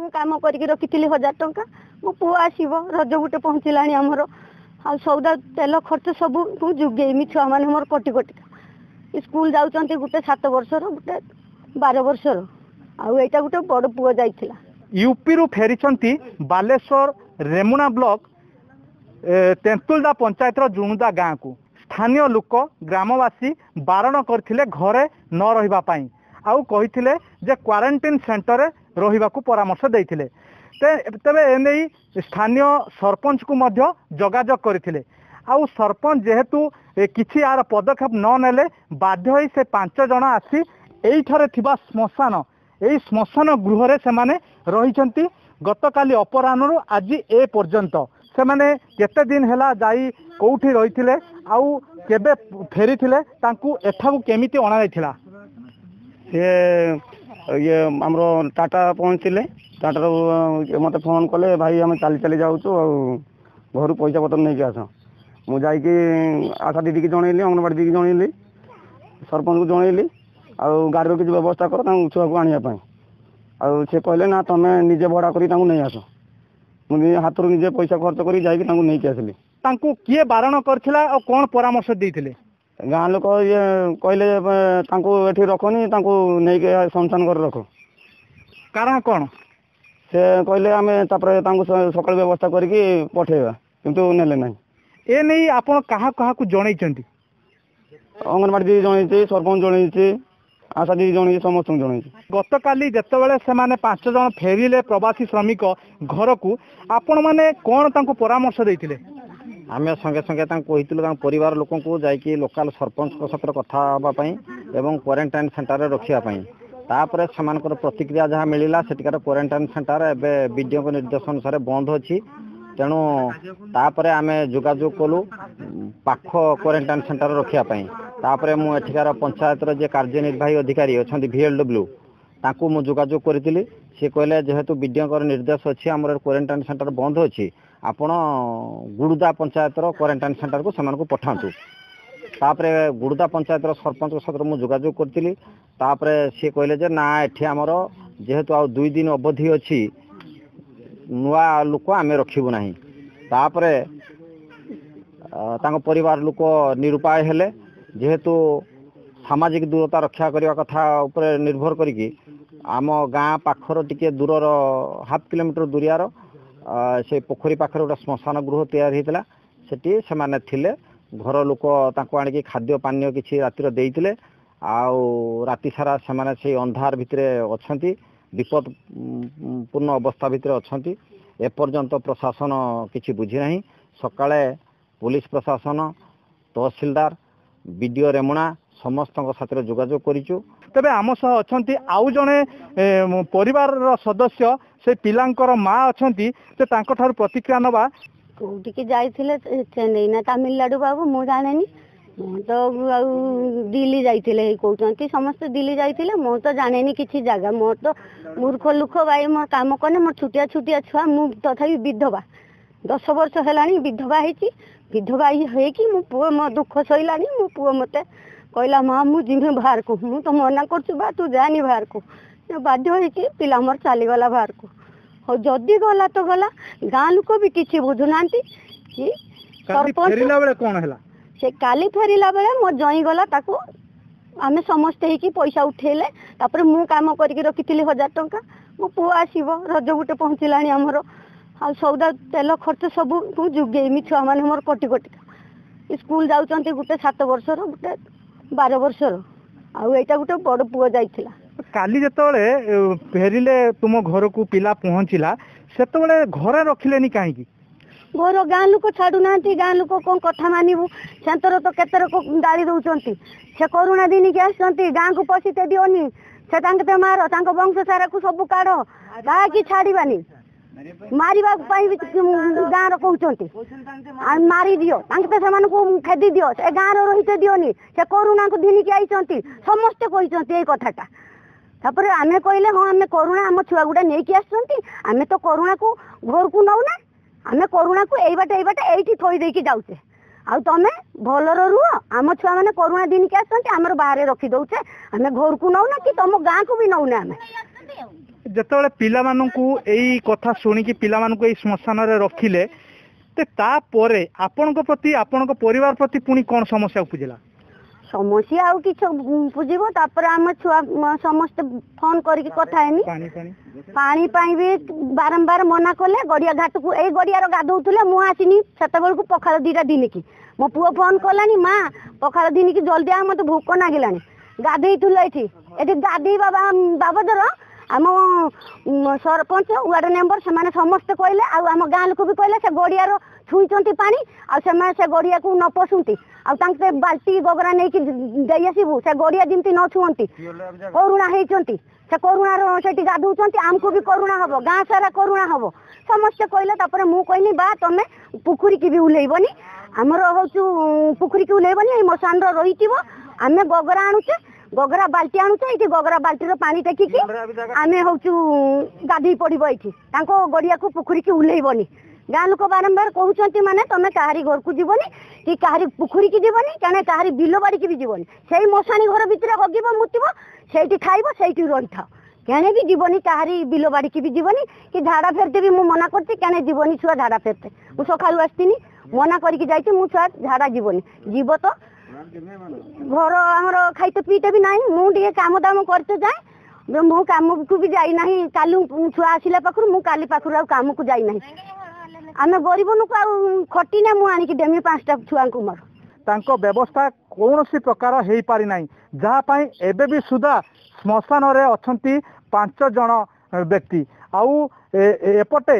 ମୁଁ କାମ କରିକି ରଖିଥିଲି 1000 ଟଙ୍କା। ମୋ ପୁଅ ଆସିବ, ରଜ ଗୋଟେ ପହଞ୍ଚିଲାଣି ଆମର। ଆଉ ସଉଦା ତେଲ ଖର୍ଚ୍ଚ ସବୁ ମୁଁ ଯୋଗେଇମି। ଛୁଆମାନେ ମୋର କଟି କଟିକା ସ୍କୁଲ ଯାଉଛନ୍ତି, ଗୋଟେ 7 ବର୍ଷର, ଗୋଟେ 12 ବର୍ଷର, ଆଉ ଏଇଟା ଗୋଟେ ବଡ଼ ପୁଅ ଯାଇଥିଲା। ୟୁପିରୁ ଫେରିଛନ୍ତି ବାଲେଶ୍ୱର ରେମୁଣା ବ୍ଲକ ତେନ୍ତୁଲଦା ପଞ୍ଚାୟତର ଜୁଣୁଦା ଗାଁକୁ। ସ୍ଥାନୀୟ ଲୋକ, ଗ୍ରାମବାସୀ ବାରଣ କରିଥିଲେ ଘରେ ନ ରହିବା ପାଇଁ, ଆଉ କହିଥିଲେ ଯେ କ୍ୱାରେଣ୍ଟିନ୍ ସେଣ୍ଟରରେ ରହିବାକୁ ପରାମର୍ଶ ଦେଇଥିଲେ। ତେବେ ଏନେଇ ସ୍ଥାନୀୟ ସରପଞ୍ଚକୁ ମଧ୍ୟ ଯୋଗାଯୋଗ କରିଥିଲେ, ଆଉ ସରପଞ୍ଚ ଯେହେତୁ କିଛି ଏହାର ପଦକ୍ଷେପ ନ ନେଲେ, ବାଧ୍ୟ ହୋଇ ସେ 5 ଜଣ ଆସି ଏଇଠାରେ ଥିବା ଶ୍ମଶାନ, ଏଇ ଶ୍ମଶାନ ଗୃହରେ ସେମାନେ ରହିଛନ୍ତି ଗତକାଲି ଅପରାହ୍ନରୁ ଆଜି ଏ ପର୍ଯ୍ୟନ୍ତ। ସେମାନେ କେତେ ଦିନ ହେଲା ଯାଇ କେଉଁଠି ରହିଥିଲେ ଆଉ କେବେ ଫେରିଥିଲେ, ତାଙ୍କୁ ଏଠାକୁ କେମିତି ଅଣାଯାଇଥିଲା? ସିଏ ଇଏ ଆମର ଟାଟା ପହଞ୍ଚିଲେ। ଟାଟାରୁ ମୋତେ ଫୋନ୍ କଲେ, ଭାଇ ଆମେ ଚାଲି ଚାଲି ଯାଉଛୁ ଆଉ ଘରୁ ପଇସା ପତ୍ର ନେଇକି ଆସ। ମୁଁ ଯାଇକି ଆଶା ଦିଦିକି ଜଣେଇଲି, ଅଙ୍ଗନବାଡ଼ି ଦିଦିକି ଜଣେଇଲି, ସରପଞ୍ଚକୁ ଜଣେଇଲି, ଆଉ ଗାଡ଼ିର କିଛି ବ୍ୟବସ୍ଥା କର ତାଙ୍କୁ ଛୁଆକୁ ଆଣିବା ପାଇଁ। ଆଉ ସେ କହିଲେ ନା ତମେ ନିଜେ ଭଡ଼ା କରି ତାଙ୍କୁ ନେଇ ଆସ। ମୁଁ ହାତରୁ ନିଜେ ପଇସା ଖର୍ଚ୍ଚ କରି ଯାଇକି ତାଙ୍କୁ ନେଇକି ଆସିଲି। ତାଙ୍କୁ କିଏ ବାରଣ କରିଥିଲା ଆଉ କ'ଣ ପରାମର୍ଶ ଦେଇଥିଲେ? ଗାଁ ଲୋକ ଇଏ କହିଲେ ତାଙ୍କୁ ଏଠି ରଖନି, ତାଙ୍କୁ ନେଇକି ଶ୍ମଶାନ ଘରେ ରଖ। କାରଣ କ'ଣ? ସେ କହିଲେ ଆମେ ତାପରେ ତାଙ୍କୁ ସକାଳୁ ବ୍ୟବସ୍ଥା କରିକି ପଠେଇବା, କିନ୍ତୁ ନେଲେ ନାହିଁ। ଏ ନେଇ ଆପଣ କାହା କାହାକୁ ଜଣେଇଛନ୍ତି? ଅଙ୍ଗନବାଡ଼ି ଦିଦି ଜଣେଇଛି, ସରପଞ୍ଚ ଜଣେଇଛି, ଆଶା ଦିଦି ଜଣେଇଛି, ସମସ୍ତଙ୍କୁ ଜଣେଇଛି। ଗତକାଲି ଯେତେବେଳେ ସେମାନେ 5 ଜଣ ଫେରିଲେ ପ୍ରବାସୀ ଶ୍ରମିକ ଘରକୁ, ଆପଣମାନେ କ'ଣ ତାଙ୍କୁ ପରାମର୍ଶ ଦେଇଥିଲେ? ଆମେ ସଙ୍ଗେ ସଙ୍ଗେ ତାଙ୍କୁ କହିଥିଲୁ ତାଙ୍କ ପରିବାର ଲୋକଙ୍କୁ ଯାଇକି ଲୋକାଲ ସରପଞ୍ଚଙ୍କ ସହିତ କଥା ହେବା ପାଇଁ ଏବଂ କ୍ୱାରେଣ୍ଟାଇନ୍ ସେଣ୍ଟରରେ ରଖିବା ପାଇଁ। ତାପରେ ସେମାନଙ୍କର ପ୍ରତିକ୍ରିୟା ଯାହା ମିଳିଲା, ସେଠିକାର କ୍ୱାରେଣ୍ଟାଇନ୍ ସେଣ୍ଟର ଏବେ ବିଡ଼ିଓଙ୍କ ନିର୍ଦ୍ଦେଶ ଅନୁସାରେ ବନ୍ଦ ଅଛି। ତେଣୁ ତାପରେ ଆମେ ଯୋଗାଯୋଗ କଲୁ ପାଖ କ୍ୱାରେଣ୍ଟାଇନ୍ ସେଣ୍ଟର ରଖିବା ପାଇଁ। ତାପରେ ମୁଁ ଏଠିକାର ପଞ୍ଚାୟତର ଯିଏ କାର୍ଯ୍ୟନିର୍ବାହୀ ଅଧିକାରୀ ଅଛନ୍ତି ଭିଏଲ୍ଡବ୍ଲ୍ୟୁ, ତାଙ୍କୁ ମୁଁ ଯୋଗାଯୋଗ କରିଥିଲି। ସିଏ କହିଲେ ଯେହେତୁ ବିଡ଼ିଓଙ୍କର ନିର୍ଦ୍ଦେଶ ଅଛି ଆମର କ୍ୱାରେଣ୍ଟାଇନ୍ ସେଣ୍ଟର ବନ୍ଦ ଅଛି, ଆପଣ ଗୁଡ଼ୁଦା ପଞ୍ଚାୟତର କ୍ୱାରେଣ୍ଟାଇନ୍ ସେଣ୍ଟରକୁ ସେମାନଙ୍କୁ ପଠାନ୍ତୁ। ତାପରେ ଗୁଡ଼ୁଦା ପଞ୍ଚାୟତର ସରପଞ୍ଚଙ୍କ ସହିତ ମୁଁ ଯୋଗାଯୋଗ କରିଥିଲି। ତାପରେ ସିଏ କହିଲେ ଯେ ନା, ଏଠି ଆମର ଯେହେତୁ ଆଉ 2 ଦିନ ଅବଧି ଅଛି, ନୂଆ ଲୋକ ଆମେ ରଖିବୁ ନାହିଁ। ତାପରେ ତାଙ୍କ ପରିବାର ଲୋକ ନିରୁପାୟ ହେଲେ। ଯେହେତୁ ସାମାଜିକ ଦୂରତା ରକ୍ଷା କରିବା କଥା ଉପରେ ନିର୍ଭର କରିକି ଆମ ଗାଁ ପାଖର ଟିକେ ଦୂରର ହାଫ୍ କିଲୋମିଟର ଦୂରିଆର ସେ ପୋଖରୀ ପାଖରେ ଗୋଟେ ଶ୍ମଶାନ ଗୃହ ତିଆରି ହେଇଥିଲା, ସେଠି ସେମାନେ ଥିଲେ। ଘର ଲୋକ ତାଙ୍କୁ ଆଣିକି ଖାଦ୍ୟ ପାନୀୟ କିଛି ରାତିରେ ଦେଇଥିଲେ, ଆଉ ରାତି ସାରା ସେମାନେ ସେଇ ଅନ୍ଧାର ଭିତରେ ଅଛନ୍ତି, ବିପଦପୂର୍ଣ୍ଣ ଅବସ୍ଥା ଭିତରେ ଅଛନ୍ତି। ଏପର୍ଯ୍ୟନ୍ତ ପ୍ରଶାସନ କିଛି ବୁଝିନାହିଁ। ସକାଳେ ପୋଲିସ ପ୍ରଶାସନ, ତହସିଲଦାର, ବିଡ଼ିଓ ରେମୁଣା ସମସ୍ତଙ୍କ ସାଥିରେ ଯୋଗାଯୋଗ କରିଛୁ। ତେବେ ଆମ ସହ ଅଛନ୍ତି ଆଉ ଜଣେ ପରିବାରର ସଦସ୍ୟ, ସେ ପିଲାଙ୍କର ମା ଅଛନ୍ତି, ସେ ତାଙ୍କଠାରୁ ପ୍ରତିକ୍ରିୟା ନେବା। କୋଉଠିକି ଯାଇଥିଲେ, ଚେନ୍ନାଇ ନା ତାମିଲନାଡ଼ୁ ବାବୁ ମୁଁ ଜାଣେନି। ମୁଁ ତ ଆଉ ଦିଲ୍ଲୀ ଯାଇଥିଲେ କହୁଛନ୍ତି ସମସ୍ତେ, ଦିଲ୍ଲୀ ଯାଇଥିଲେ। ମୁଁ ତ ଜାଣେନି କିଛି ଜାଗା, ମୋର ତ ମୂର୍ଖ ଲୋକ ଭାଇ। ମୋର କାମ କନେ, ମୋର ଛୋଟିଆ ଛୋଟିଆ ଛୁଆ। ମୁଁ ତଥାପି ବିଧବା, 10 ବର୍ଷ ହେଲାଣି ବିଧବା ହେଇଛି। ବିଧବା ହେଇକି ମୋ ପୁଅ ମୋ ଦୁଃଖ ସହିଲାନି। ମୋ ପୁଅ ମୋତେ କହିଲା, ମା ମୁଁ ଯିମି ବାହାରକୁ। ମୁଁ ତ ମନା କରୁଛି, ବା ତୁ ଯାନି ବାହାରକୁ। ବାଧ୍ୟ ହେଇକି ପିଲା ମୋର ଚାଲିଗଲା ବାହାରକୁ। ହଉ, ଯଦି ଗଲା ତ ଗଲା। ଗାଁ ଲୋକ ବି କିଛି ବୁଝୁନାହାନ୍ତି କି ସରପଞ୍ଚ। ଫେରିଲା ବେଳେ କ'ଣ ହେଲା? ସେ କାଲି ଫେରିଲା ବେଳେ ମୋ ଜଇଁ ଗଲା ତାକୁ, ଆମେ ସମସ୍ତେ ହେଇକି ପଇସା ଉଠେଇଲେ। ତାପରେ ମୁଁ କାମ କରିକି ରଖିଥିଲି 1000 ଟଙ୍କା। ମୋ ପୁଅ ଆସିବ, ରଜ ଗୋଟେ ପହଞ୍ଚିଲାଣି ଆମର। ଆଉ ସଉଦା ତେଲ ଖର୍ଚ୍ଚ ସବୁ ମୁଁ ଯୋଗେଇମି। ଛୁଆମାନେ ମୋର କଟି କଟିକା ସ୍କୁଲ ଯାଉଛନ୍ତି, ଗୋଟେ 7 ବର୍ଷର, ଗୋଟେ 12 ବର୍ଷର, ଆଉ ଏଇଟା ଗୋଟେ ବଡ଼ ପୁଅ ଯାଇଥିଲା। କାଲି ଯେତେବେଳେ ଫେରିଲେ ତୁମ ଘରକୁ ପିଲା ପହଞ୍ଚିଲା, ସେତେବେଳେ ଘରେ ରଖିଲେନି କାହିଁକି? ଘର ଗାଁ ଲୋକ ଛାଡୁନାହାନ୍ତି। ଗାଁ ଲୋକ କ'ଣ କଥା ମାନିବୁ? ସେନ୍ତର ତ କେତେ ଲୋକ ଗାଳି ଦଉଛନ୍ତି। ସେ କରୁଣା ଦିନିକି ଆସିଛନ୍ତି, ଗାଁକୁ ପଶିତେ ଦିଅନି, ସେ ତାଙ୍କ ମାର, ତାଙ୍କ ବଂଶ ସାରାକୁ ସବୁ କାଢ, କାହାକି ଛାଡିବାନି। ମାରିବା ପାଇଁ ବି ଗାଁର କହୁଛନ୍ତି, ମାରିଦିଅ ତାଙ୍କେ ତ, ସେମାନଙ୍କୁ ଖେଦି ଦିଅ, ସେ ଗାଁର ରହିତେ ଦିଅନି, ସେ କରୁଣାକୁ ଧିନିକି ଆଇଛନ୍ତି। ସମସ୍ତେ କହିଛନ୍ତି ଏଇ କଥାଟା। ତାପରେ ଆମେ କହିଲେ ହଁ, ଆମେ କରୁଣା ଆମ ଛୁଆ ଗୁଡ଼ା ନେଇକି ଆସିଛନ୍ତି। ଆମେ ତ କରୁଣାକୁ ଘରକୁ ନଉନା, ଆମେ କରୁଣାକୁ ଏଇ ବାଟେ ଏଇ ବାଟେ ଏଇଠି ଥୋଇ ଦେଇକି ଯାଉଛେ, ଆଉ ତମେ ଭଲରେ ରୁହ। ଆମ ଛୁଆମାନେ କରୁଣା ଦିନିକି ଆସିଛନ୍ତି, ଆମର ବାହାରେ ରଖି ଦଉଛେ, ଆମେ ଘରକୁ ନଉନା କି ତମ ଗାଁକୁ ବି ନଉନା ଆମେ। ଯେତେବେଳେ ପିଲାମାନଙ୍କୁ ଏଇ କଥା ଶୁଣିକି ପିଲାମାନଙ୍କୁ ଏଇ ଶ୍ମଶାନରେ ରଖିଲେ, ତାପରେ ଆପଣଙ୍କ ପ୍ରତି, ଆପଣଙ୍କ ପରିବାର ପ୍ରତି ପୁଣି କ'ଣ ସମସ୍ୟା ଉପୁଜିଲା? ସମସ୍ୟା ଆଉ କିଛି ଉପୁଜିବ? ତାପରେ ଆମ ଛୁଆ ସମସ୍ତେ ଫୋନ କରିକି କଥା ହେଇନି। ପାଣି ପାଇଁ ବି ବାରମ୍ବାର ମନା କଲେ। ଗଡ଼ିଆ ଘାଟକୁ, ଏଇ ଗଡ଼ିଆର ଗାଧଉଥିଲେ। ମୁଁ ଆସିନି ସେତେବେଳକୁ ପଖାଳ 2ଟା ଦିନିକି। ମୋ ପୁଅ ଫୋନ କଲାନି, ମା ପଖାଳ ଦିନିକି ଜଲ୍ଦି ଆ, ମତେ ଭୋକ ନାଗିଲାଣି। ଗାଧେଇଥିଲୁ ଏଠି। ଏଠି ଗାଧେଇବା ବାବଦର ଆମ ସରପଞ୍ଚ, ୱାର୍ଡ ମେମ୍ବର ସେମାନେ ସମସ୍ତେ କହିଲେ, ଆଉ ଆମ ଗାଁ ଲୋକ ବି କହିଲେ, ସେ ଗଡ଼ିଆର ଛୁଇଁଛନ୍ତି ପାଣି, ଆଉ ସେମାନେ ସେ ଗଡ଼ିଆକୁ ନ ପଶୁନ୍ତି, ଆଉ ତାଙ୍କ ବାଲ୍ଟି ଗଗରା ନେଇକି ଦେଇ ଆସିବୁ, ସେ ଗଡ଼ିଆ ଯେମିତି ନ ଛୁଅନ୍ତି। କରୁଣା ହେଇଛନ୍ତି, ସେ କରୁଣାର ସେଠି ଗାଧଉଛନ୍ତି, ଆମକୁ ବି କରୁଣା ହବ, ଗାଁ ସାରା କରୁଣା ହବ, ସମସ୍ତେ କହିଲେ। ତାପରେ ମୁଁ କହିଲି, ବା ତମେ ପୋଖରୀକି ବି ଓହ୍ଲେଇବନି, ଆମର ହଉଛୁ ପୋଖରୀକି ଓହ୍ଲେଇବନି, ଏଇ ମଶାଣର ରହିଥିବ। ଆମେ ଗଗରା ଆଣୁଛେ, ଗଗରା ବାଲ୍ଟି ଆଣୁଛେ, ଏଇଠି ଗଗରା ବାଲ୍ଟିର ପାଣି ଟେକିକି ଆମେ ହଉଛୁ ଗାଧେଇ ପଡ଼ିବ ଏଇଠି, ତାଙ୍କ ଗଡ଼ିଆକୁ ପୋଖରୀକି ଓହ୍ଲେଇବନି। ଗାଁ ଲୋକ ବାରମ୍ବାର କହୁଛନ୍ତି, ମାନେ ତମେ କାହାରି ଘରକୁ ଯିବନି କି କାହାରି ପୋଖରୀକି ଯିବନି, କାରଣ କାହାରି ବିଲ ବାଡ଼ିକି ବି ଯିବନି। ସେଇ ମଶାଣି ଘର ଭିତରେ ହଗିବ ମୁତିବ, ସେଇଠି ଖାଇବ, ସେଇଠି ରହିଥାଅ। କେଣେ ବି ଯିବନି, କାହାରି ବିଲ ବାଡ଼ିକି ବି ଯିବନି କି ଝାଡ଼ା ଫେରତେ ବି ମୁଁ ମନା କରୁଛି। କେଣେ ଯିବନି ଛୁଆ ଝାଡ଼ା ଫେରତେ। ମୁଁ ସକାଳୁ ଆସିଥିଲି, ମନା କରିକି ଯାଇଛି ମୁଁ, ଛୁଆ ଝାଡ଼ା ଯିବନି। ଯିବ ତ ଘର ଆମର ଖାଇତେ ପିଇତେ ବି ନାହିଁ। ମୁଁ ଟିକେ କାମ ଦାମ କରିତେ ଯାଏ, ମୁଁ କାମକୁ ବି ଯାଇନାହିଁ। କାଲି ଛୁଆ ଆସିଲା ପାଖରୁ ମୁଁ କାଲି ପାଖରୁ ଆଉ କାମକୁ ଯାଇନାହିଁ। ଆମେ ଗରିବ ଲୋକ, ଆଉ ଖଟିନେ ମୁଁ ଆଣିକି ଦେମି 5ଟା ଛୁଆଙ୍କୁ ମୋର? ତାଙ୍କ ବ୍ୟବସ୍ଥା କୌଣସି ପ୍ରକାର ହେଇପାରି ନାହିଁ, ଯାହା ପାଇଁ ଏବେ ବି ସୁଦ୍ଧା ଶ୍ମଶାନରେ ଅଛନ୍ତି 5 ଜଣ ବ୍ୟକ୍ତି। ଆଉ ଏପଟେ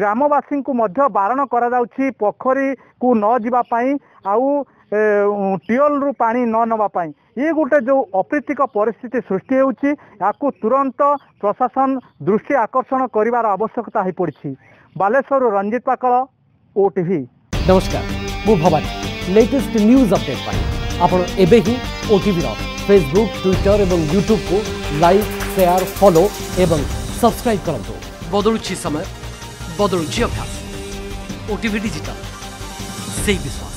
ଗ୍ରାମବାସୀଙ୍କୁ ମଧ୍ୟ ବାରଣ କରାଯାଉଛି ପୋଖରୀକୁ ନ ଯିବା ପାଇଁ ଆଉ ଟ୍ୟୁବୱେଲରୁ ପାଣି ନ ନେବା ପାଇଁ। ଇଏ ଗୋଟେ ଯେଉଁ ଅପ୍ରୀତିକ ପରିସ୍ଥିତି ସୃଷ୍ଟି ହେଉଛି, ଏହାକୁ ତୁରନ୍ତ ପ୍ରଶାସନ ଦୃଷ୍ଟି ଆକର୍ଷଣ କରିବାର ଆବଶ୍ୟକତା ହୋଇପଡ଼ିଛି। ବାଲେଶ୍ୱରରୁ ରଞ୍ଜିତ ପାକଳ, ଓଟିଭି। ନମସ୍କାର, ମୁଁ ଭବାନୀ। ଲେଟେଷ୍ଟ ନ୍ୟୁଜ୍ ଅପଡେଟ୍ ପାଇଁ ଆପଣ ଏବେ ହିଁ ଓଟିଭିର ଫେସବୁକ୍, ଟ୍ୱିଟର ଏବଂ ୟୁଟ୍ୟୁବକୁ ଲାଇକ୍, ସେୟାର, ଫଲୋ ଏବଂ ସବସ୍କ୍ରାଇବ୍ କରନ୍ତୁ। ବଦଳୁଛି ସମୟ, ବଦଳୁଛି ଅଭ୍ୟାସ, ଓଟିଭି ଡିଜିଟାଲ ସେଇ ବିଶ୍ୱାସ।